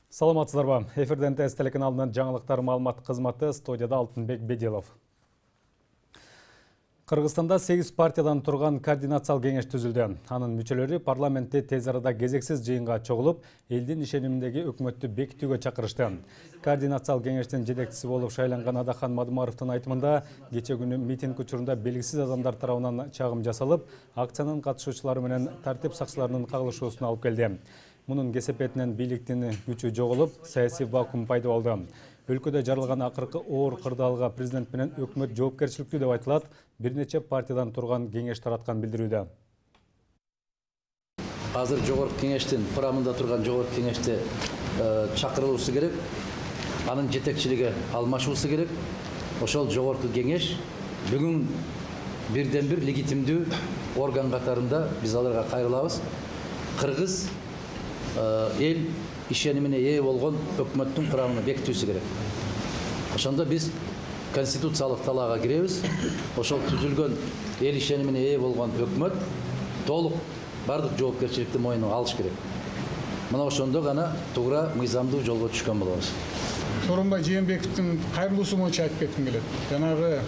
Саламатсыздарбы? Эфирден ТС телеканалынын жаңылыктар маалымат кызматы, студияда Алтынбек Беделов. Кыргызстанда 8 партиядан турган координациялык кеңеш түзүлдү. Анын мүчөлөрү парламентте тез арада кезексиз жыйынга чогулуп, элдин ишениминдеги өкмөттү бекитүүгө чакырышты. Координациялык кеңештин жетекчиси болуп шайланган Адахан Мадумаровдун айтымында, кече күнү митинг учурунда белгисиз адамдар тарабынан чагым жасалып, акциянын катышуучулары менен тартип сакчыларынын кагылышуусуна алып келди. Мунун кесепетинен бийликтин күчү жоголуп, саясий вакуум пайда болду. Өлкөдө жаралган акыркы оор кырдаалга президент менен өкмөт жоопкерчиликтүү деп айтылат. Бир нече партиядан турган кеңеш тараткан билдирүүдө. Азыр жогорку кеңештин курамында турган жогорку кеңеште чакырылуусу керек. Анын жетекчилиги алмашуусу керек. Ошол жогорку кеңеш бүгүн бирден бир легитимдүү орган катарында биз аларга кайрылабыз. Кыргыз эл ишенимине ээ болгон өкмөттүн курамын бекитүүсү керек. Ошондо биз конституциялык талаага киребиз. Ошол түзүлгөн эл ишенимине ээ болгон өкмөт толук бардык жоопкерчиликти мойнуна алыш керек. Мына ошондо гана туура мыйзамдуу жолго түшкөн болобуз. Сооронбай Жээнбековдун кайрылуусу боюнча айтып кетким келет. Жанагы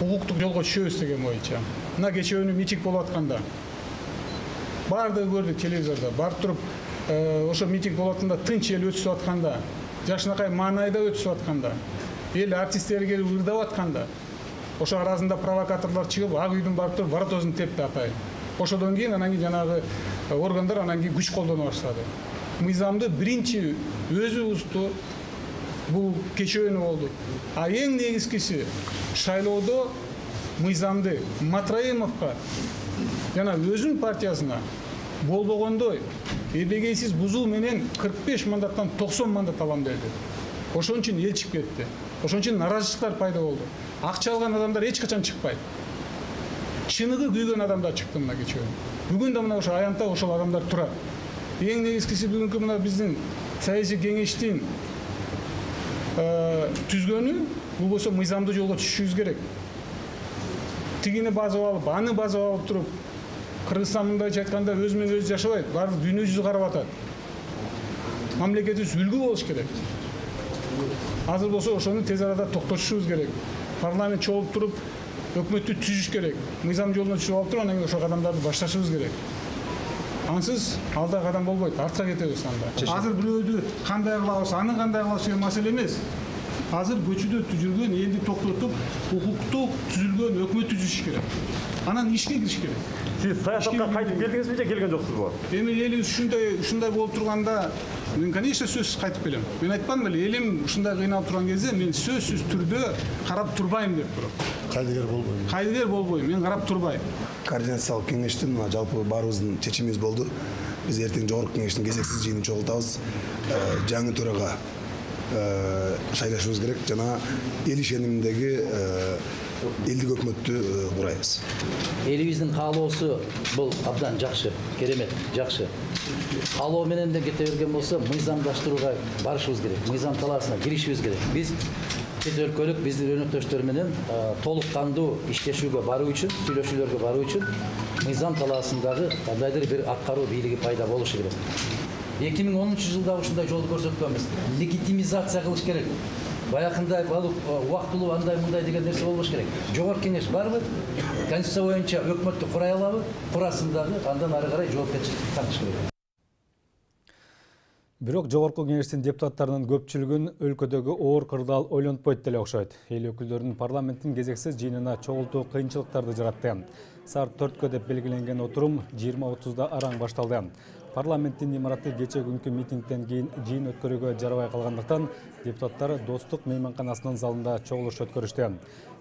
укуктук жолго түшөбүз деген боюнча. Мына кече күнү митинг болуп атканда баардыгы көрдүк телевизордо. Барып туруп ошо митинг болуп атканда тынч эл өтүшүп атканда, жашынакай маанайда өтүшүп атканда, эл артисттери келип ырдап атканда, ошо арасында провокаторлор чыгып, ак үйдүн барып туруп воротосун тепти атайын. Ошодон кийин анан кийин жанагы органдар анан кийин күч колдоно баштады. Мыйзамды биринчи өзү бузду. Бул кечөөнү болду. А эң негизгиси шайлоодо мыйзамды Матраимовго жана өзүнүн партиясына болбогондой эбегейсиз бузуу менен 45 мандаттан 90 мандат алам деди. Ошон үчүн эл чыгып кетти. Ошон үчүн наразычылыктар пайда болду. Акча алган адамдар эч качан чыкпайт. Чыныгы күйгөн адамдар чыкты мына кече. Бүгүн да мына ошо аянтта ошол адамдар турат. Эң негизгиси бүгүнкү мына биздин саясий кеңештин түзгөнү бул болсо мыйзамдуу жолго түшүшүбүз керек. Тигини базып алып, аны базып алып туруп, Кыргызстан мындайча айтканда өзү менен өзү жашабайт, баардык дүйнө жүзү карап атат. Мамлекетибиз үлгү болуш керек. Азыр болсо ошону тез арада токтотушубуз керек. Парламент чогулуп туруп, өкмөттү түзүш керек. Мыйзам жолуна түшүп алып туруп, анан кийин ошо кадамдарды башташыбыз керек. Ансыз алда кадам болбойт, артка кетебиз анда. Азыр бирөөдү кандай кылабыз, аны кандай кылабыз деген маселе эмес. Азыр көчүдө жүргөн элди токтотуп, укуктук түзүлгөн өкмөт түзүш керек. Анан ишке кириш керек. Сиз саясатка кайтып келдиңизби же келген жоксузбу? Эми элибиз ушундай болуп турганда, мен конечно сөзсүз кайтып келем. Мен айтпадым беле, элим ушундай кыйналып турган кезде мен сөзсүз түрдө карап турбайм деп туруп. Кайдыгер болбойм. Кайдыгер болбойм, мен карап турбайм. Координациялык кеңештин жалпы баарыбыздын чечимибиз болду. Биз эртең жогорку кеңештин кезексиз жыйынын чогултабыз. Жаңы төрага шайлашыбыз керек жана эл ишениминдеги элдик өкмөттү курайбыз. Элибиздин каалоосу бул абдан жакшы, керемет, жакшы. Каалоо менен де кете берген болсо мыйзамдаштырууга барышыбыз керек. Мыйзам талаасына киришибиз керек. Биз чет өлкөлүк биздин өнөктөштөр менен толук кандуу иштешүүгө баруу үчүн, сүйлөшүүлөргө баруу үчүн мыйзам талаасындагы кандайдыр бир аткаруу бийлиги пайда болушу керек. 2010-жылда ушундай жолду көрсөткөнбүз. Легитимизация кылыш керек. Баякындай балык убактылуу андай мындай деген нерсе болбош керек. Жогорку кеңеш барбы? Конституция боюнча өкмөттү курай алабы? Курасын дагы андан ары карай жоопкерчиликти тартыш керек. Бирок жогорку кеңештин депутаттарынын көпчүлүгүн өлкөдөгү оор кырдаал ойлонтпойт деле окшойт. Эл өкүлдөрүнүн парламенттин кезексиз жыйынына чогултуу кыйынчылыктарды жаратты. Саат 4-кө деп белгиленген отурум 20:30да араң башталды. Парламенттин имараты кече күнкү митингден кийин жыйын өткөрүүгө жарабай калгандыктан депутаттар Достук мейманканасынын залында чогулуш өткөрүштү.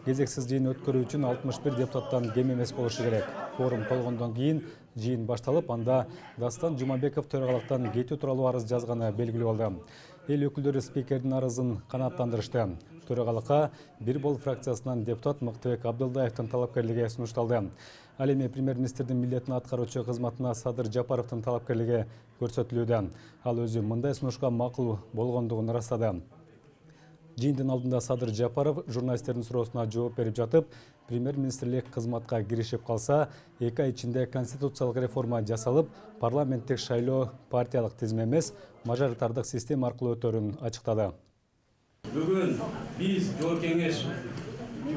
Кезексиз жыйын өткөрүү үчүн 61 депутаттан кем эмес болушу керек. Форум толгондон кийин жыйын башталып, анда Дастан Жумабеков төрагалыктан кетүү тууралуу арыз жазганы белгилүү болду. Эл өкүлдөрү спикердин арызын канааттандырышты. Төрагалыкка Бир Бол фракциясынан депутат Мыктыбек Абдылдаевдин талапкерлиги сунушталды. Ал эми премьер-министрдин милдетин аткаруучу кызматына Садыр Жапаровдун талапкерлиги көрсөтүлүүдө. Ал өзү мындай сунушка макул болгондугун ырастады. Жыйындын алдында Садыр Жапаров журналисттердин суроосуна жооп берип жатып, премьер-министрлик кызматка киришип калса, 2 ай ичинде конституциялык реформа жасалып, парламенттик шайлоо партиялык тизме эмес, мажоритардык система аркылуу өтөрүн ачыктады. Бүгүн биз Жогорку Кеңеш бир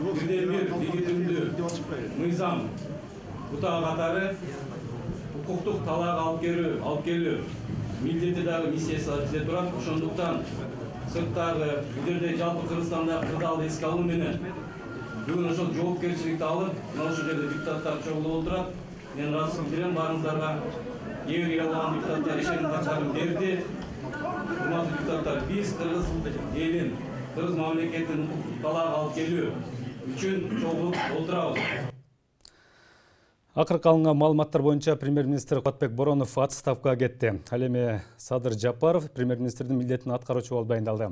легитимдүү мыйзам бутагы катары укуктук талаак алып келүү милдети дагы миссиясы бизде турат. Ошондуктан сырттагы билдирде жалпы Кыргызстандагы кырдаалды эске алуу менен бүгүн ошол жоопкерчиликти алып, мына ушул жерде депутаттар чогулуп отурат. Мен ыраазычылык билдирем баарыңыздарга. Кээ бир калган депутаттар ишеним каттарын берди. Урматтуу депутаттар, биз Кыргыз элин, Кыргыз мамлекетин укуктук талаак алып келүү үчүн чогулуп отурабыз. Акыркы алынган маалыматтар боюнча премьер-министр Кубатбек Боронов отставкага кетти. Ал эми Садыр Жапаров премьер-министрдин милдетин аткаруучу болуп дайындалды.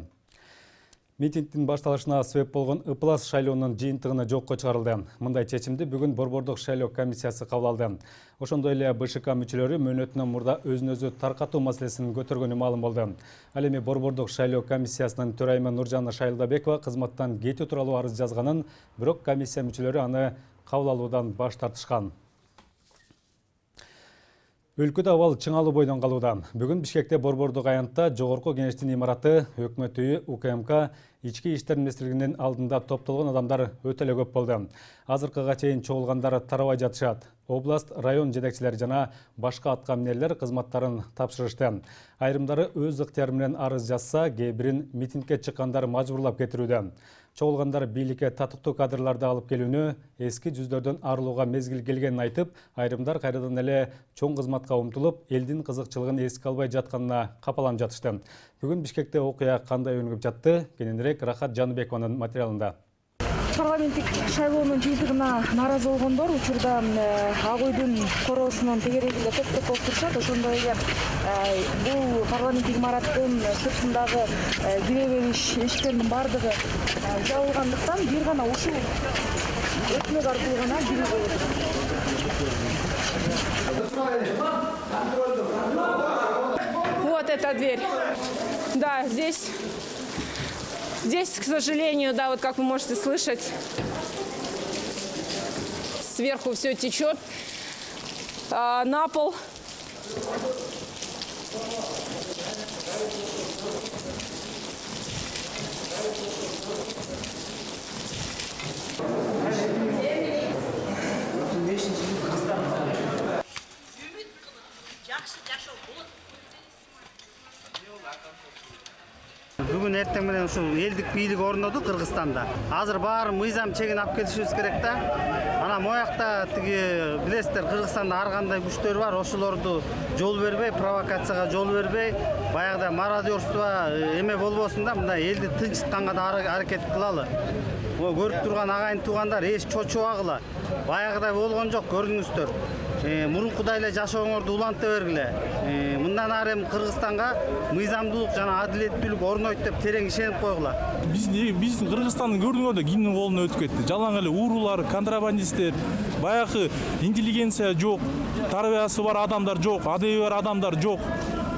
Митингдин башталышына себеп болгон ыплас шайлоонун жыйынтыгына жокко чыгарылды. Мындай чечимди бүгүн Борбордук шайлоо комиссиясы кабыл алды. Ошондой эле БШК мүчөлөрү мөөнөтүнөн мурда өзүн-өзү таркатуу маселесин көтөргөнү маалым болду. Ал эми Борбордук шайлоо комиссиясынын төрайымы Нуржана Шайлдабекова кызматтан кетүү тууралуу арыз жазганын, бирок комиссия мүчөлөрү аны кабыл алуудан баш тартышкан. Өлкөдө абал чыңалуу бойдон калууда. Бүгүн Бишкекте Борбордук аянтта Жогорку Кеңештин имараты, Өкмөт үйү, УКМК, Ички иштер министрлигинин алдында топтолгон адамдар өтө эле көп болду. Азыркыга чейин чогулгандар тарабай жатышат. Област, район жетекчилери жана башка атка минерлер кызматтарын тапшырышты. Айрымдары өз ыктыяры менен арыз жазса, кээ бирин митингге чыккандар мажбурлап кетирүүдө. Чогулгандар бийликке татыктуу кадрларды алып келүүнү, эски жүздөрдөн арылууга мезгил келгенин айтып, айрымдар кайрадан эле чоң кызматка умтулуп, элдин кызыкчылыгын эске албай жатканына капаланып жатышты. Бүгүн Бишкекте окуя кандай өнүгүп жатты? Кененирээк Рахат Жаныбекованын материалында. Парламенттик шайлоонун жыйынтыгына нааразы болгондор учурда Ак үйдүн короосунун тегерегинде топтоп болуп турушат. Ошондой эле бул парламенттик имараттын сыртындагы кире бериш эшиктеринин баардыгы жабылгандыктан бир гана ушул өтмөк аркылуу гана кирүүгө болот. Вот эта дверь. Да, Здесь, к сожалению, да, вот как вы можете слышать, сверху все течет на пол. Бүгүн эртең менен ушул элдик бийлик орноду Кыргызстанда. Азыр баары мыйзам чегин алып келишибиз керек да. Ана моякта тиги билесиздер, Кыргызстанда ар кандай күчтөр бар, ошолорду жол бербей, провокацияга жол бербей, баягыда мародерство эме болбосун да, мындай элди тынчытканга да аракет кылалы. Көрүп турган агайын туугандар эч чочубагыла. Баягыдай болгон жок, көрдүңүздөр. Мурункудай эле жашооңорду уланта бергиле. Мындан ары Кыргызстанга мыйзамдуулук жана адилеттүүлүк орнойт деп терең ишенип койгула. Биз Кыргызстандын көрдүңөр да кимдин колуна өтүп кетти. Жалаң эле уурулар, контрабандисттер, баягы интеллигенция жок, тарбиясы бар адамдар жок, адеби бар адамдар жок.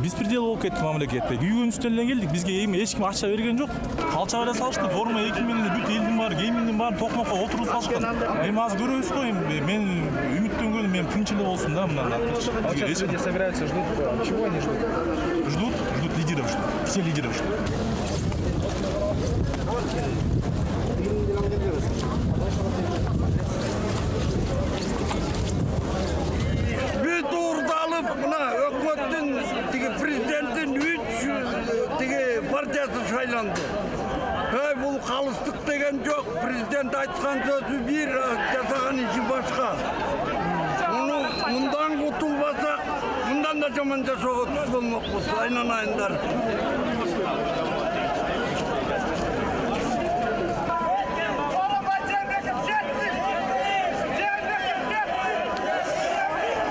Беспредел болуп кетти мамлекетте. Күйгөнүздөн эле келдик. Бизге эч ким акча берген жок. Калчак эле салышты. Форма 2 менен бүт элдин баары, гейминдин баары токмокко отуруп салышкан. Эми азыр көрөбүз го, мен үмүттөнгөнүм мен тынч эле болсун да мындан. Люди собираются, ждут. Чего они ждут? Ждут лидеров, ждут. Все лидеров ждут. Бүт уурдалып, мына өкмөттүн президенттин 3 партиясы шайланды. Бул калыстык деген жок. Президент айткан сөзү бир, жасаган иши башка. Мындан кутулбасак, мындан да жаман жашоого туш болмокпуз. Айнанайындар.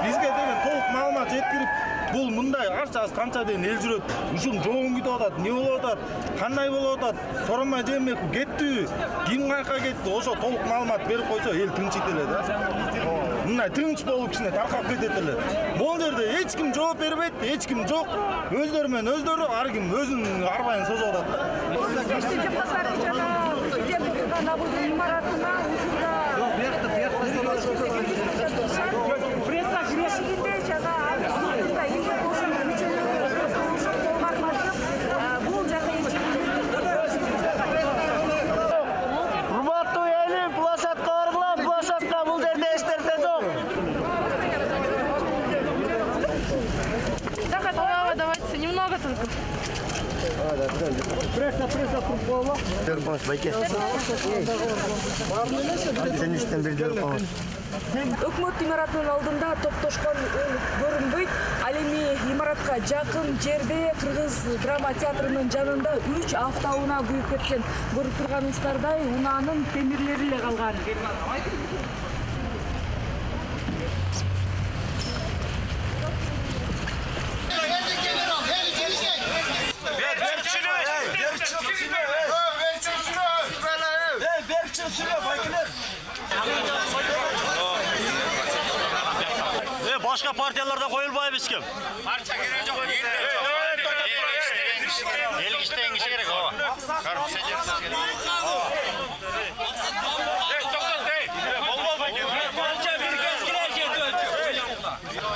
Бизге деген толук маалымат жеткирип, бул мындай канча ден эл жүрөт. Ушун жоон күтүп болуп атат, эмне болуп атат, кандай болуп атат, соромай жемек кеттиби, ким каяка кетти, ошо толук маалымат берип койсо эл тынчыйт эле да. Мындай тынч болуп кичине таркап кетет эле. Бул жерде эч ким жооп бербейт, эч ким жок. Өздөрү менен өздөрү ар ким өзүнүн арбайын созуп атат. Урматтуу элим, площадка баргыла, площадка бул жерде эч нерсе жок. Захар, давайте немного только. Пресса туруп коела. Терпош байке. Сен иштен бир жүрүп калган. Өкмөт имаратынын алдында топтошкон көрүнбөйт. Ал эми имаратка жакын жерде Кыргыз драма театрынын жанында 3 автоунаа күйүп кеткен. Көрүп турганыңыздардай унаанын темирлери эле калган. Başka partiyalardan koyulmayı biz kim? Parça gerek yok. El işten işe gerek o. Karpuz ederiz. Parça bir eskiler geldi ölçü.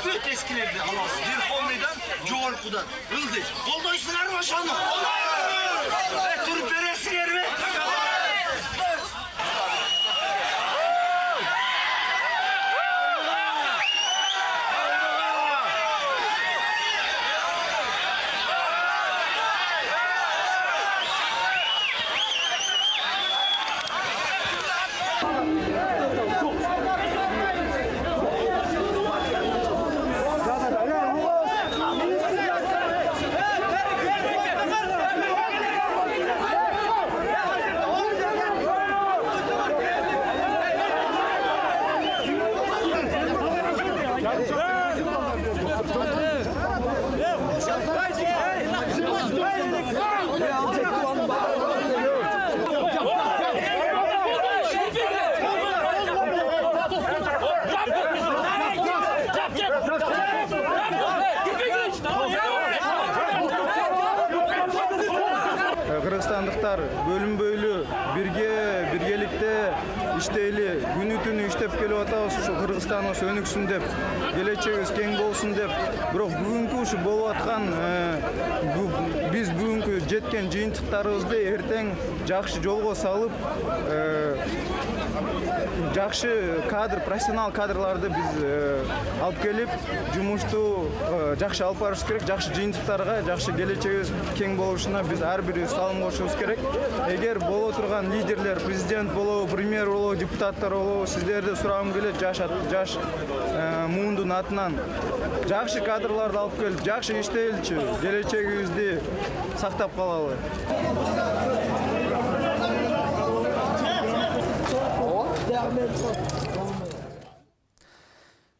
Bütün eskilerde alasın. Bir komiden Coğurku'dan. Yıldız. Koldoysunlar mı aşağıda? Turp veresinler mi? Кыргызстандыктар бөлүнбөйлү биргеликте иштейли, күнү түнү иштеп келип атабыз. Ушу Кыргызстаныбыз өнүксүн деп, келечегибиз кең болсун деп. Бирок бүгүнкү ушу болуп аткан биз бүгүнкү жеткен жыйынтыктарыбызды эртең жакшы жолго салып, жакшы кадр, профессионал кадрларды биз алып келип, жумушту жакшы алып барышыбыз керек, жакшы жыйынтыктарга, жакшы келечегибиз кең болушуна биз ар бирибиз салым кошушубуз керек. Эгер боло турган лидерлер, президент болобу, премьер болобу, депутаттар болобу, сиздерди сурагым келет, жаш муундун атынан жакшы кадрларды алып келип, жакшы иштейличи, келечегибизди сактап калалы.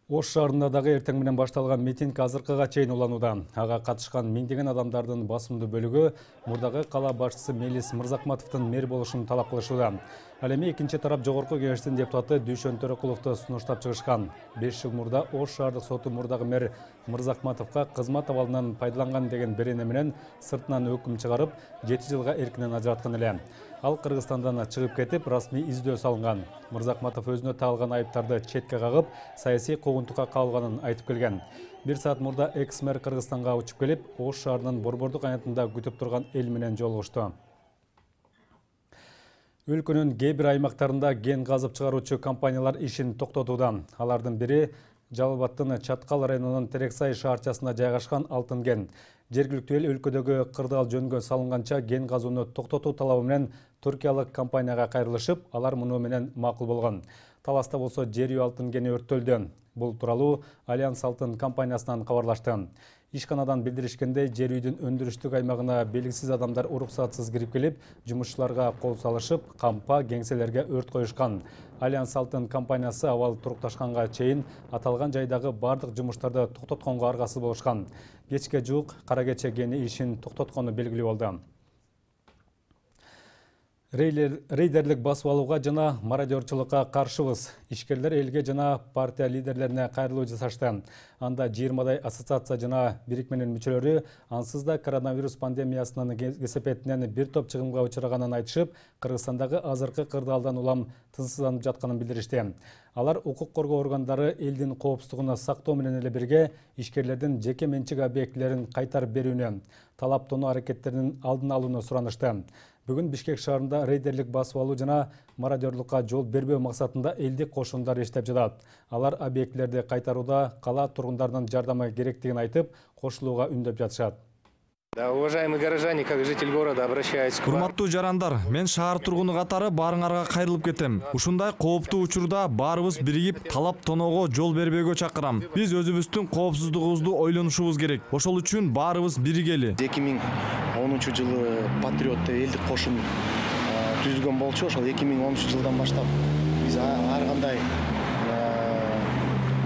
Ош шаарында дагы эртең менен башталган митинг азыркыга чейин уланууда. Ага катышкан миңдеген адамдардын басымдуу бөлүгү мурдагы кала башчысы Мелис Мырзакматовдун мэр болушун талап кылышууда. Ал эми экинчи тарап Жогорку Кеңештин депутаты Дүйшөн Төрөкуловду сунуштап чыгышкан. 5 жыл мурда Ош шаардык соту мурдагы мэр Мырзакматовго кызмат абалынан пайдаланган деген берене менен сыртынан өкүм чыгарып, 7 жылга эркинен ажыраткан эле. Ал Кыргызстандан чыгып кетип, расмий издөө салынган. Мырзакматов өзүнө тагылган айыптарды четке кагып, саясий куугунтукка кабылганын айтып келген. 1 саат мурда экс-мэр Кыргызстанга учуп келип, Ош шаарынын Борбордук аянтында күтүп турган эл менен жолугушту. Өлкөнүн кээ бир аймактарында ген казып чыгаруучу компаниялар ишин токтотууда. Алардын бири Жалал Абаддын Чаткал районунун Терексай шаарчасында жайгашкан Алтын кен. Жергиликтүү эл өлкөдөгү кырдаал жөнгө салынганча ген казууну токтотуу талабы менен туркиялык компанияга кайрылышып, алар муну менен макул болгон. Таласта болсо жер үй алтын кени өрттөлдү. Бул тууралуу Альянс Алтын компаниясынан кабарлашты. Ишканадан билдиришкендей, жер үйдүн өндүрүштүк аймагына белгисиз адамдар уруксатсыз кирип келип, жумушчуларга кол салышып, кампа, кеңселерге өрт коюшкан. Альянс Алтын компаниясы абал турукташканга чейин аталган жайдагы бардык жумуштарды токтотконго аргасыз болушкан. Кечке жуук Кара Кече кени ишин токтоткону белгилүү болду. Рейдерлик басып алууга жана мародерчулукка каршыбыз. Ишкерлер элге жана партия лидерлерине кайрылуу жасашты. Анда 20дай ассоциация жана бирикменин мүчөлөрү ансыз да коронавирус пандемиясынын кесепетинен бир топ чыгымга учураганын айтышып, Кыргызстандагы азыркы кырдаалдан улам тынчсызданып жатканын билдиришти. Алар укук коргоо органдары элдин коопсуздугун сактоо менен эле бирге ишкерлердин жеке менчик объектилерин кайтарып берүүнү, талап тоноо аракеттеринин алдын алууну суранышты. Бүгүн Бишкек шаарында рейдерлик басып алуу жана мародерлукка жол бербөө максатында элдик кошундар иштеп жатат. Алар объектилерди кайтарууда кала тургундарынын жардамы керектигин айтып, кошулууга үндөп жатышат. Да, уважаемые горожане, как житель города, обращаюсь к вам. Урматтуу жарандар, мен шаар тургуну катары баарыңарга кайрылып кетем. Ушундай кооптуу учурда баарыбыз биригип талап тоноого жол бербөөгө чакырам. Биз өзүбүздүн коопсуздугубузду ойлонушубуз керек. Ошол үчүн баарыбыз биригели. 2010-жылы Патриот элдик кошун түзүлгөн болчу. Ошол 2013-жылдан баштап биз ар кандай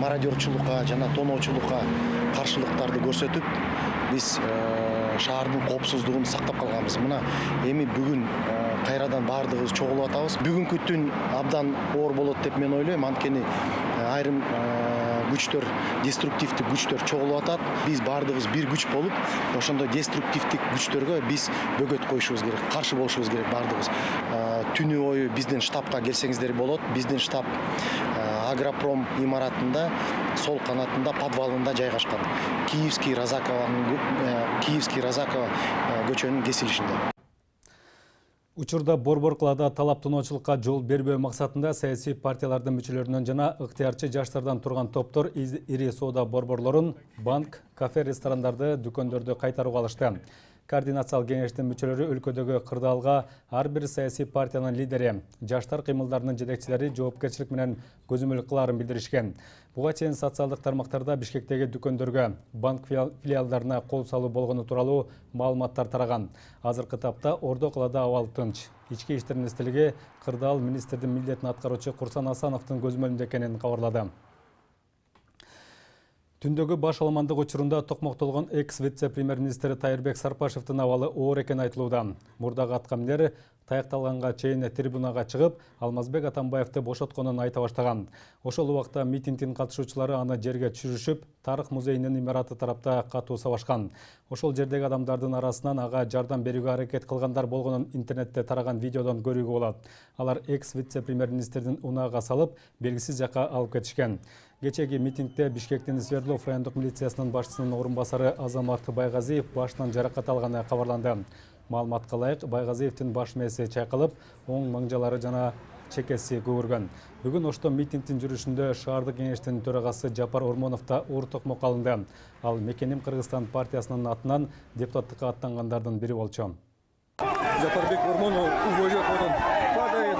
мародерчулукка жана тоноочулукка каршылыктарды көрсөтүп, биз шаардын коопсуздугун сактап калганбыз. Мына эми бүгүн кайрадан баардыгыбыз чогулуп атабыз. Бүгүнкү түн абдан оор болот деп мен ойлойм. Анткени айрым күчтөр, деструктивдик күчтөр чогулуп атат. Биз баардыгыбыз бир күч болуп, ошондой деструктивдик күчтөргө биз бөгөт коюшубуз керек, каршы болушубуз керек баардыгыбыз. Түнү бою биздин штабка келсеңиздер болот. Биздин штаб Агропром имаратында, сол канатында, подвалында жайгашкан. Киевский Розакова көчөнүн кесилишинде. Учурда борбор кылаада талап тоноочулукка жол бербөө максатында саясий партиялардын мүчөлөрүнөн жана ыктыярчы жаштардан турган топтор ири соода борборлорун, банк, кафе, ресторандарды, дүкөндөрдү кайтарууга алышты. Координациялык кеңештин мүчөлөрү өлкөдөгү кырдаалга ар бир саясий партиянын лидери, жаштар кыймылдарынын жетекчилери жоопкерчилик менен көзөмөл кылаарын билдиришкен. Буга чейин социалдык тармактарда Бишкектеги дүкөндөргө, банк филиалдарына кол салуу болгону тууралуу маалыматтар тараган. Азыркы тапта Ордо калаада абал тынч. Ички иштер министрлиги кырдаал министрдин милдетин аткаруучу Курсан Асановдун көзөмөлүндө экенин кабарлады. Түндөгү баш аламандык учурунда токмоктолгон экс-вице-премьер-министри Тайырбек Сарпашевдин абалы оор экени айтылууда. Мурдагы аткаминер таякталганга чейин трибунага чыгып, Алмазбек Атамбаевди бошотконун айта баштаган. Ошол убакта митингдин катышуучулары аны жерге түшүрүшүп, Тарых музейинин имараты тарапта катуу сабашкан. Ошол жердеги адамдардын арасынан ага жардам берүүгө аракет кылгандар болгонун интернетте тараган видеодон көрүүгө болот. Алар экс-вице-премьер-министрдин унаага салып, белгисиз жакка алып кетишкен. Кечеги митингде Бишкектин Свердлов райондук милициясынын башчысынын орун басары Азамат Байгазиев башынан жаракат алганы кабарланды. Маалыматка ылайык, Байгазиевдин баш мээси чайкалып, оң маңжалары жана чекеси көгөргөн. Бүгүн ошто митингдин жүрүшүндө шаардык кеңештин төрагасы Жапар Ормонов да оор токмок алынды. Ал Мекеним Кыргызстан партиясынын атынан депутаттыкка аттангандардын бири болчу. Жапарбек Ормонов увозят падает.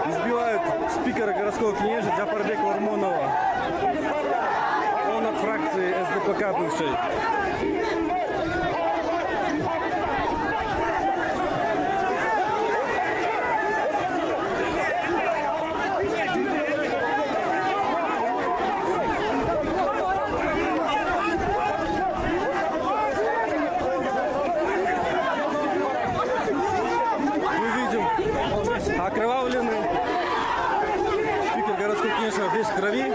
Избивают спикера городского князя Жапарбека Ормонова. Он от фракции СДПК бывшей. Окровавленный спикер городского князя весь в крови.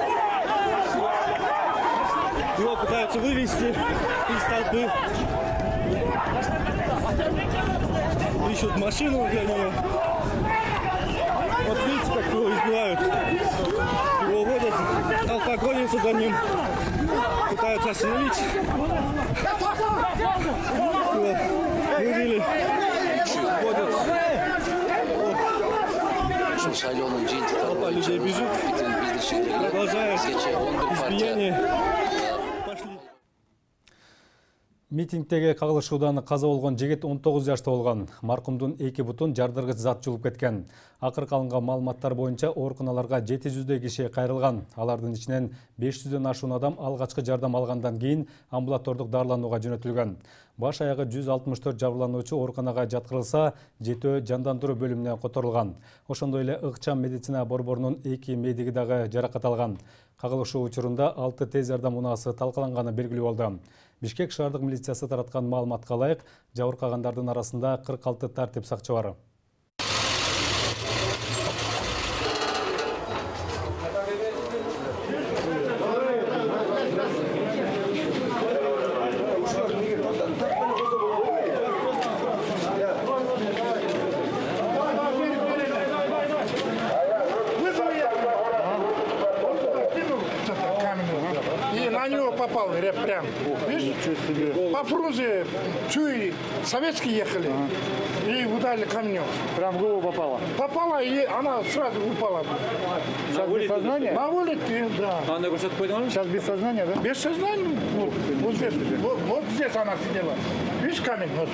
Его пытаются вывести из толпы. Ищут машину для него. Вот видите, как его избивают. Его уводят, толпа гонится за ним. Пытаются остановить. Вот. Вывели. Уводят. Толпа людей бежит, продолжает избиение. Митингдеги кагылышуудан каза болгон жигит 19 жашта болгон. Маркумдун 2 бутун жардыргыч зат жулуп кеткен. Акыркы алынган маалыматтар боюнча ооруканаларга 700 киши кайрылган. Алардын ичинен 500дөн ашуун адам алгачкы жардам алгандан кийин амбулатордук дарыланууга жөнөтүлгөн. Баш аягы 164 жабырлануучу ооруканага жаткырылса, 7 жандандыруу бөлүмүнө которулган. Ошондой эле ыкчам медицина борборунун 2 медиги дагы жаракат алган. Кагылышуу учурунда 6 тез жардам унаасы талкаланганы белгилүү болду. Бишкек шаардык милициясы тараткан маалыматка ылайык, жабыркагандардын арасында 46 тартип сакчы бар. На него попал прям. Видишь? По Фрунзе чуи советские ехали и ударили камнем. Прям в голову попало? Попала, и она сразу упала. Сейчас без сознания? На улице, да. А она сейчас без сознания, да? Без сознания. Вот здесь. Вот здесь она сидела. Видишь камень? Вот.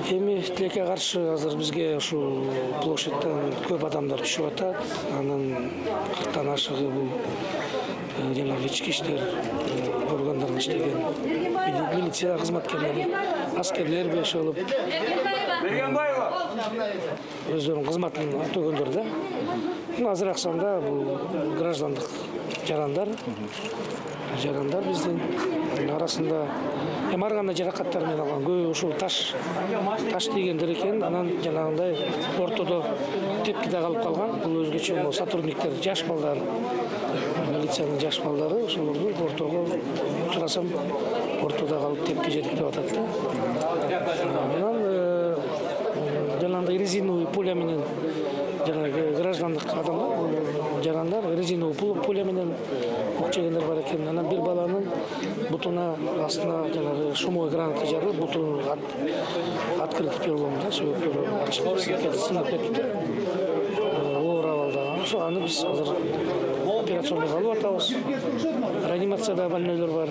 Эми тилекке каршы азыр бизге ушул площадьтан көп адамдар түшүп атат. Анын 40тан ашыгы бул жанагы ички иштер органдарында иштеген милиция кызматкерлери, аскерлер бешалып өздөрүнүн кызматын өтөгөндөр да. Азыраак санда бул граждандык жарандар биздин арасында ар кандай жаракаттар менен алган. Көбү ушул таш тийгендер экен. Анан жанагындай ортодо тепки да калып калган. Бул өзгөчө сотрудниктер, жаш балдар, милициянын жаш балдары ошолорду ортого сурасам ортодо калып тепки жетип деп атат да. Анан жанагындай резиновый пуля менен жанагы граждандык адамдар, жарандар резиновый пуля менен ок жегендер бар экен. Анан бир баланын бутуна астына жанагы шумовой граната жарылып, бутун открытый перелом да, сөөктөрү ачылып сынып кетти. Оор абалда. Ошо аны биз азыр операциондо калып атабыз. Реанимацияда больнойлор бар.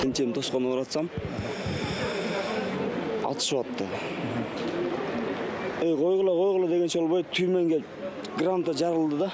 Энчем тоскону уратсам, атышып атты. Койгула дегенче болбойт, түймен келип граната жарылды да.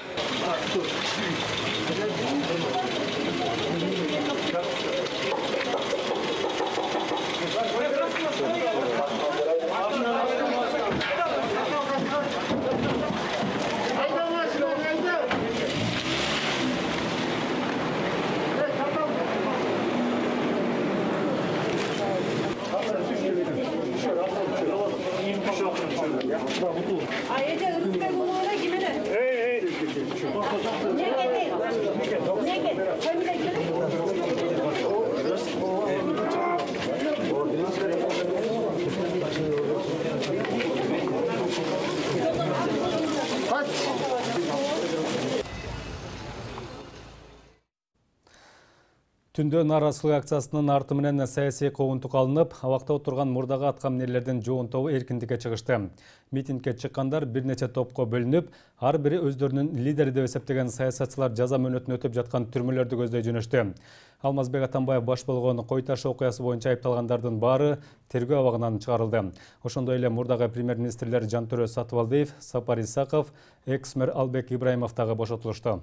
Түндө нааразычылык акциясынын арты менен саясий коомдук алынып, абакта отурган мурдагы аткаминерлердин жоон тобу эркиндикке чыгышты. Митингге чыккандар бир нече топко бөлүнүп, ар бири өздөрүнүн лидери деп эсептеген саясатчылар жаза мөөнөтүн өтөп жаткан түрмөлөрдү көздөй жөнөштү. Алмазбек Атамбаев баш болгон Кой Таш окуясы боюнча айыпталгандардын баары тергөө абагынан чыгарылды. Ошондой эле мурдагы премьер-министрлер Жантөрө Сатыбалдиев, Сапар Исаков, экс-мэр Албек Ибраимов дагы бошотулушту.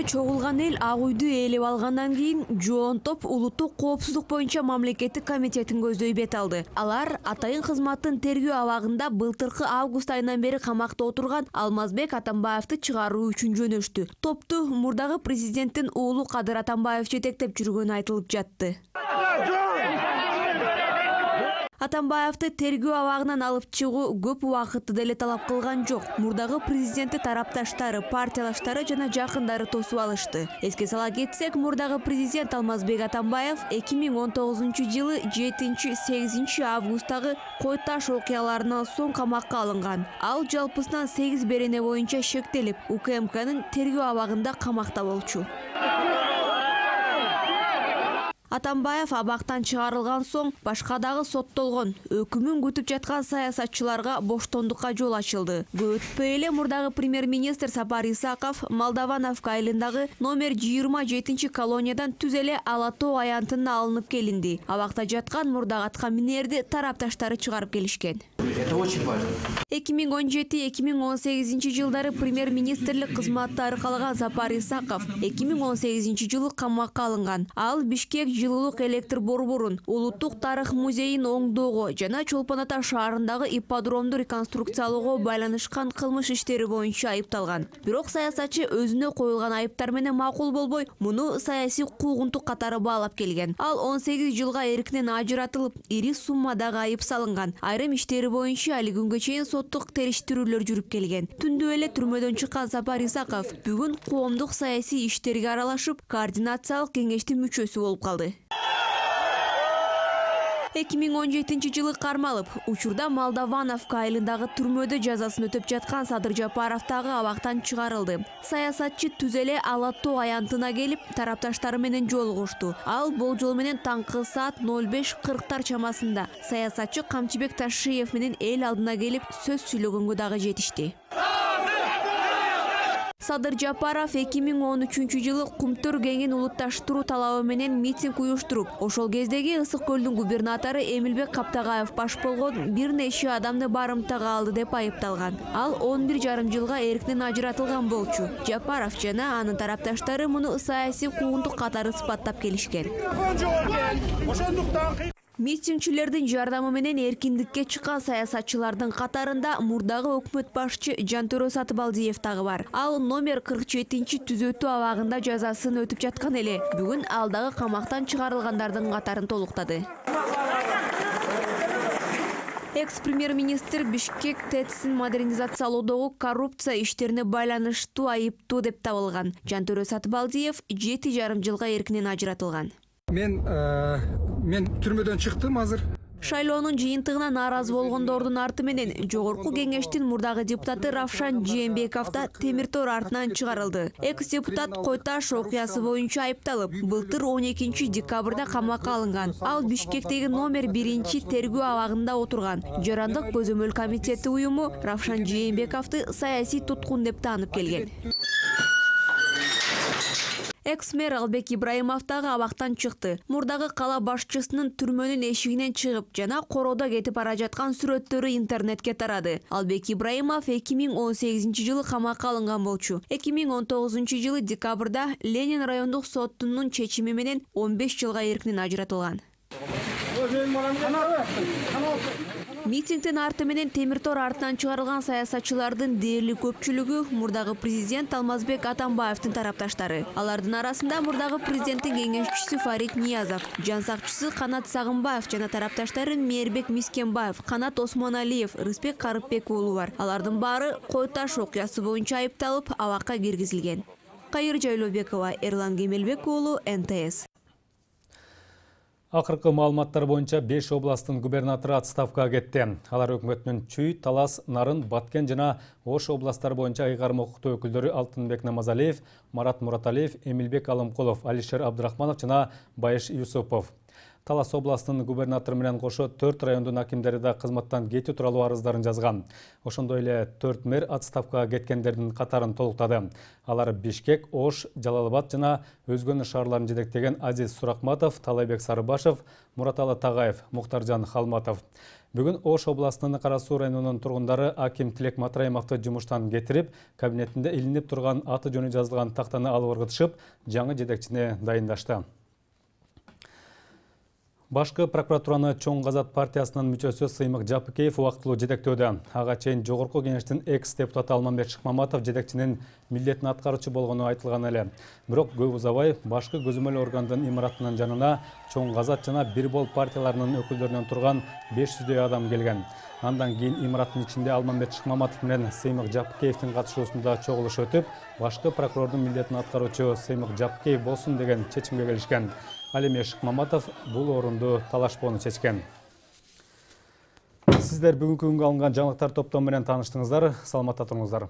Чогулган эл Ак үйдү ээлеп алгандан кийин жоон топ улуттук коопсуздук боюнча мамлекеттик комитетин көздөй бет алды. Алар атайын кызматтын тергөө абагында былтыркы август айынан бери камакта отурган Алмазбек Атамбаевди чыгаруу үчүн жөнөштү. Топту мурдагы президенттин уулу Кадыр Атамбаев жетектеп жүргөнү айтылып жатты. Атамбаевди тергөө абагынан алып чыгуу көп убакытты деле талап кылган жок. Мурдагы президенти тарапташтары, партиялаштары жана жакындары тосуп алышты. Эске сала кетсек, мурдагы президент Алмазбек Атамбаев 2019-жылы 7-8 августтагы Кой Таш окуяларынан соң камакка алынган. Ал жалпысынан 8 берене боюнча шектелип, УКМКнын тергөө абагында камакта болчу. Атамбаев абактан чыгарылган соң башка дагы соттолгон, өкүмүн күтүп жаткан саясатчыларга боштондукка жол ачылды. Көп өтпөй эле мурдагы премьер-министр Сапар Исаков Молдавановка айылындагы номер 27 колониядан түз эле Ала тоо аянтына алынып келинди. Абакта жаткан мурдагы атка минерди тарапташтары чыгарып келишкен. Это очень важно. 2017-2018 жылдары премьер-министрлик кызматты аркалаган Сапар Исаков 2018 жылы камакка алынган. Ал Бишкек жылуулук электр борборун, Улуттук тарых музейин оңдоого жана Чолпон Ата шаарындагы ипподромду реконструкциялоого байланышкан кылмыш иштери боюнча айыпталган. Бирок саясатчы өзүнө коюлган айыптар менен макул болбой, муну саясий куугунтук катары баалап келген. Ал 18 жылга эркинен ажыратылып, ири суммадагы айып салынган. Айрым иштери боюнча али күнгө чейин соттук териштирүүлөр жүрүп келген. Түндө эле түрмөдөн чыккан Сапар Исаков бүгүн коомдук саясий иштерге аралашып, координациялык кеңештин мүчөсү болуп калды. 2017 жылы кармалып, учурда Молдавановка айылындагы түрмөдө жазасын өтөп жаткан Садыр Жапаров дагы абактан чыгарылды. Саясатчы түз эле Ала тоо аянтына келип, тарапташтары менен жолугушту. Ал болжол менен таңкы саат 05:40 чамасында саясатчы Камчыбек Ташиев менен эл алдына келип сөз сүйлөгөнгө дагы жетишти. Садыр Жапаров 2013 жылы Кумтөр кеңин улутташтыруу талабы менен митинг уюштуруп, ошол кездеги Ысык көлдүн губернатору Эмилбек Каптагаев баш болгон бир нече адамды барымтага алды деп айыпталган. Ал 11,5 жылга эркинен ажыратылган болчу. Жапаров жана анын тарапташтары муну саясий куугунтук катары ысбаттап келишкен. Митингчилердин жардамы менен эркиндикке чыккан саясатчылардын катарында мурдагы өкмөт башчы Жантөрө Сатыбалдиев дагы бар. Ал номер 47 түзөтүү абагында жазасын өтүп жаткан эле. Бүгүн ал дагы камактан чыгарылгандардын катарын толуктады. Экс-премьер-министр Бишкек ТЭЦ-ин модернизациялоодогу коррупция иштерине байланыштуу айыптуу деп табылган. Жантөрө Сатыбалдиев 7,5 жылга эркинен ажыратылган. Мен түрмөдөн чыктым азыр. Шайлоонун жыйынтыгына нааразы болгондордун арты менен жогорку кеңештин мурдагы депутаты Равшан Жээнбеков да темир тор артынан чыгарылды. Экс-депутат Койташ окуясы боюнча айыпталып, былтыр 12 декабрда камакка алынган. Ал Бишкектеги номер 1 тергөө абагында отурган. Жарандык көзөмөл комитети уюму Равшан Жээнбековду саясий туткун деп таанып келген. Экс-мэр Албек Ибраимов дагы абактан чыкты. Мурдагы кала башчысынын түрмөнүн эшигинен чыгып жана короодо кетип бара жаткан сүрөттөрү интернетке тарады. Албек Ибраимов 2018 жылы камакка алынган болчу. 2019 жылы декабрда Ленин райондук сотунун чечими менен 15 жылга эркинен ажыратылган. Митингдин арты менен темир тор артынан чыгарылган саясатчылардын дээрлик көпчүлүгү мурдагы президент Алмазбек Атамбаевдин тарапташтары. Алардын арасында мурдагы президенттин кеңешчиси Фарид Ниязов, жансакчысы Канат Сагынбаев жана тарапташтары Мээрбек Мискенбаев, Канат Осмоналиев, Рыспек Карыпбек уулу бар. Алардын баары Койташ окуясы боюнча айыпталып, абакка киргизилген. Кайыр Жайлообекова, Эрлан Кемелбек уулу, НТС. Акыркы маалыматтар боюнча 5 областтын губернатору отставкага кетти. Алар өкмөтүнүн Чүй, Талас, Нарын, Баткен жана Ош областтары боюнча ыйгарым укуктуу өкүлдөрү Алтынбек Намазалиев, Марат Мураталиев, Эмилбек Алымкулов, Алишер Абдрахманов жана Байыш Юсупов. Талас областынын губернатору менен кошо 4 райондун акимдери да кызматтан кетүү тууралуу арыздарын жазган. Ошондой эле 4 мэр отставкага кеткендердин катарын толуктады. Алар Бишкек, Ош, Жалал-Абад жана өзгөнү шаарларын жетектеген Азиз Суракматов, Талайбек Сарыбашев, Мураталы Тагаев, Муктаржан Халматов. Бүгүн Ош областынын Кара Суу районунун тургундары аким Тилек Матраимовду жумуштан кетирип, кабинетинде илинип турган аты жөнү жазылган тактаны алып ыргытышып, жаңы жетекчине дайындашты. Башкы прокуратураны Чоң Казат партиясынын мүчөсү Сыймык Жапыкеев убактылуу жетектөөдө. Ага чейин жогорку кеңештин экс-депутаты Алмамбет Шыкмаматов жетекчинин милдетин аткаруучу болгону айтылган эле. Бирок көп узабай башкы көзөмөл органдын имаратынын жанына Чоң Казат жана Бир Бол партияларынын өкүлдөрүнөн турган 500дөй адам келген. Андан кийин имараттын ичинде Алмамбет Шыкмаматов менен Сыймык Жапыкеевдин катышуусунда чогулуш өтүп, башкы прокурордун милдетин аткаруучу Сыймык Жапыкеев болсун деген чечимге келишкен. Ал эми Шыкмаматов бул орунду талашпоону чечкен. Сиздер бүгүнкү күнгө алынган жаңылыктар топтому менен тааныштыңыздар. Саламатта туруңуздар.